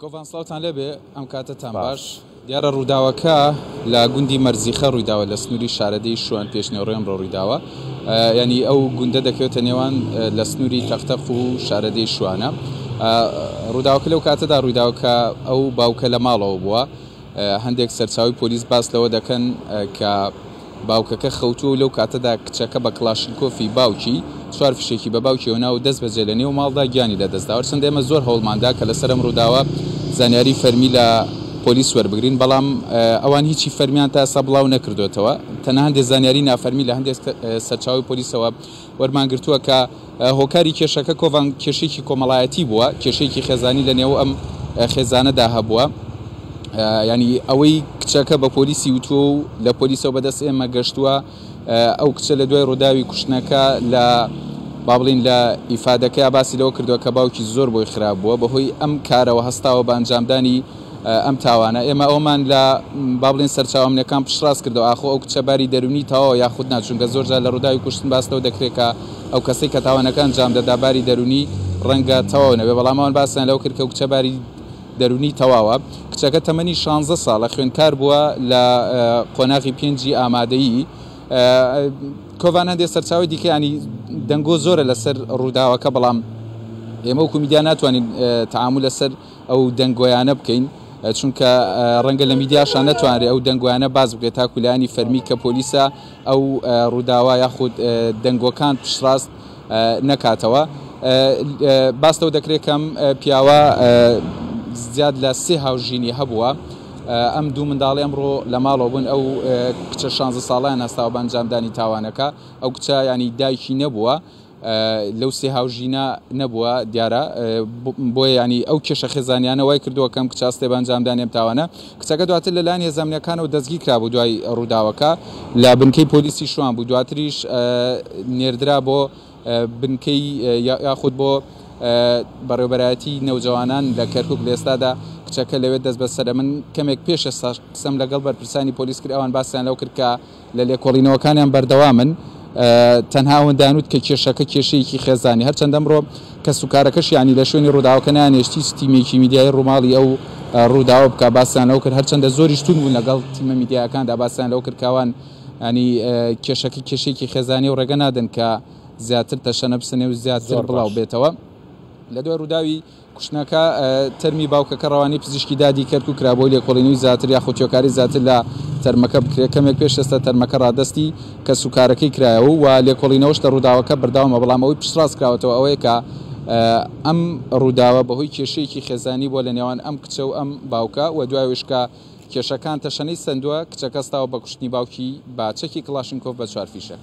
کۆڤان سڵاوتان لێبێ ئەم کاتەتان باش. دیارە ڕووداوەکە لە گوندی مەرزیخە ڕوویداوە لە سنووری شارەدێی شوان پێشنێوڕێ ئەمڕۆ ڕوویداوە ینی ئەو گوندە دەکەوێتە نێوان لە سنووری تەقتەق و شارەدێی شوانە ڕووداوەکە لەو کاتەدا ڕوویداوە کە ئەو باوکە لە ماڵەوە بووە هەندێک سەرچاوەی پۆلیس باس لەوە دەکەن کە باوکەکە خەوتووە و لەو کاتەدا کچەکە بە کڵاشینکۆفی باوکی چوار فیشەکی بە باوکیەوە نا و دەستبەجێ لە نێو ماڵدا گیانی لەدەستدا. هەرچەندە ئێمە زۆر هەوڵماندا کە لەسەر ئەم ڕووداوە زانیاری فەرمی لە پۆلیس وەربگرین، بەڵام ئەوان هیچی فەرمیان تا ئێستا بڵاو نەکردۆتەوە. تەنها هەندێک زانیاری نافەرمی لە هەندێک سەرچاوەی پۆلیسەوە وەرمانگرتووە کە هۆکاری کێشەکە کۆڤان کێشەیەکی کۆمەڵایەتی بووە، کێشەیەکی خێزانی لە نێو ئەم خێزانەدا هەبووە. ینی ئەوەی کچەکە بە پۆلیسی وتووە و لە پۆلیسەوە بەدەست ئێمە گەشتووە، ئەو کچە لە دوای ڕووداوی کوشتنەکە لە با بڵین لە ئیفادەکەیا باسی لەوە کردووە کە باوکی زۆر بۆی خراپ بووە، بەهۆی ئەم کارەوە هەستاوە بە ئەنجامدانی ئەم تاوانە. ئێمە ئەوەمان لە با بڵێین سەرچاوە ئەمنیەکان پشتڕاست کردەوە ئاخۆ ئەو کچە باری دەروونی تەواوە یاخود نا، چونکە زۆر جار لە ڕووداوی کوشتن باس لەوە دەکرێت کە ئەو کەسەی کە تاوانەکە ئەنجام دەدا باری دەروونی ڕەنگە تەواو نەبێت، بەڵام ئەوان باسیان لەوە کرد کە ئەو کچە باری دەروونی تەواوە. کچەکە تەمەنی 16 ساڵە، خوێندکار بووە لە قۆناغی پێنجی ئامادەیی. کۆڤان هەندێک سەرچاوەی دیکە ینی دەنگۆ زۆرە لەسەر ڕووداوەکە، بەڵام ئێمە وەکو میدیا ناتوانین تەعامول لەسەر ئەو دەنگۆیانە بکەین، چونکە ڕەنگە لە میدیاشا نەتوانرێت ئەو دەنگۆیانە باس بکرێت تاکو لایەنی فەرمی کە پۆلیسە ئەو ڕووداوە یاخود دەنگۆکان پشتڕاست نەکاتەوە. باس لەوە دەکرێت کەم پیاوە زیاد لە سێ هاوژینی هەبووە. ئەم دوو منداڵی ئەمڕۆ لە ماڵەوە بوون، ئەو کچە 16 ساڵیان هەستاوە بە ئەنجامدانی تاوانەکە. ئەو کچە ینی دایکی نەبووە، لەو سێ هاوژینە نەبووە دیارە، بۆیە ینی ئەو کێشە خێزانیانە وای کردووە کەم کچە هەستێ بە ئەنجامدانی ئەم تاوانە. کچەکە دواتر لەلایەن هێزە ئەمنییەکانەوە دەستگیر کرابوو دوای ڕووداوەکە لە بنکەی پۆلیسی شوان بوو، دواتریش نێردرا بۆ بنکەی یاخود بۆ بەڕێوەبەرایەتی نەوجەوانان لە کەرکوک. لە ئێستادا کچەکە لەوێ دەستبەسەرە. من کەمێک پێش ئێستا قسەم لەگەڵ بەرپرسانی پۆلیس کرد، ئەوان باسیان لەوە کرد کە لە لێکۆڵینەوەکانیان بەردەوامن، تەنها ئەوەندەیان وت کە کێشەکە کێشەیەکی خێزانی، هەرچەندە ئەمڕۆ کەسوکارەکەشیانی لە شوێنی ڕووداوەکە نەیانهێشت هیچ تیمێکی میدیایی ڕووماڵی ئەو ڕووداوە بکات، باسیان لەوە کرد هەرچەندە زۆریش توند بوون لەگەڵ تیمە میدیایەکاندا، باسیان لەوە کرد کە ئەوان ینی کێشەکە کێشەیەکی خێزانی و ڕێگە نادەن کە زیاتر تەشەنە بسەنێ و زیاتر بڵاو بێتەوە. لە دوای ڕووداوی کوشتنەکە تەرمی باوکەکە ڕەوانەی پزیشکی دادی کەرکوک کرا بۆ لێکۆڵینەوەی زیاتر یاخود تێوکاری زیاتر لە تەرمەکە بکرێت، کەمێک پێش ئێستا تەرمەکە ڕادەستی کەسوکارەکەی کرایەوە و لێکۆڵینەوەش لە ڕووداوەکە بەردەوامە، بەڵام ئەوەی پشتڕاست کراوەتەوە ئەوەیە کە ئەم ڕووداوە بەهۆی کێشەیەکی خێزانی بووە لە نێوان ئەم کچە و ئەم باوکە و دوای ئەوەیش کە کێشەکان تەشەنەی سەندووە کچەکە هەستاوە بە کوشتنی باوکی بە چەکی کڵاشینکۆف بە چوار فیشەک.